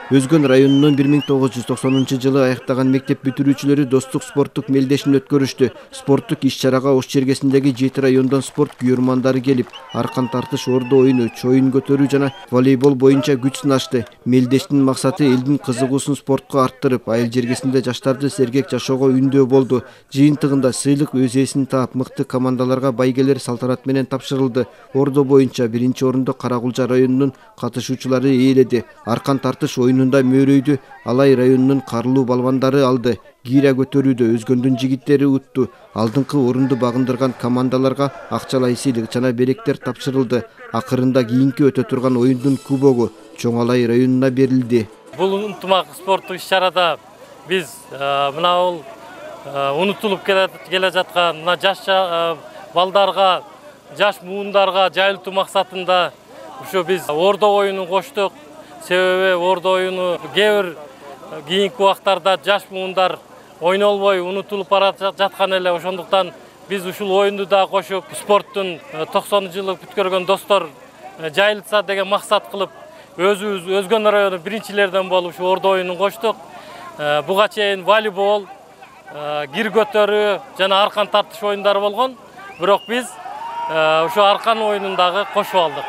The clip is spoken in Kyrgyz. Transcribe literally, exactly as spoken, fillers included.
Өзгөн районунун бир миң тогуз жүз токсонунчу жылы аяктаган мектеп бүтүрүүчүлөрү достук спорттук мелдешин өткөрүштү. Спорттук иш-чарага Ош чергесиндеги жети райондон спорт күйөрмандары келип, аркан тартыш, ордо оюну, чоюн көтөрүү жана волейбол боюнча күч сынашты. Мелдештин максаты элдин кызыгуусун спортко арттырып, айыл жергесинде жаштарды сергек жашоого үндөө болду. Жыйынтыгында сыйлык өз ээсин таап, мыкты командаларга байгелер салтанат менен тапшырылды. Ордо боюнча биринчи орунду Каракулча районунун катышуучулары ээледи. Аркан тартыш оюнунда мөөрөйдү Алай районунун Карлуу балбандары алды. Гира көтөрүүдө Өзгөндүн жигиттери утту. Алдыңкы орунду багындырган командаларга акчалай сыйлык жана беректер тапшырылды. Акырында кийинки өтө турган оюндун кубогу Чоң Алай районуна берилди. Бул ынтымак спорттук иш-чарада биз мына бул унутулуп келе жаткан мына жаш балдарга, жаш муундарга жайылтуу максатында ушу биз ордо оюнун коштук. Себеби ордо оюну кээ бир кийинки убактарда жаш муундар ойнолбой унутулуп бара жаткан эле. Ошондуктан биз ушул оюнду да кошуп, спорттун токсонунчу жылы бүткөргөн достор жайылтса деген максат кылып, өзүбүз Өзгөн району биринчилерден болуп ушу ордо оюнун коштук. Буга чейин волейбол, кир көтөрүү жана аркан тартыш оюндары болгон. Бирок биз ушу аркан оюнун дагы кошуп алдык.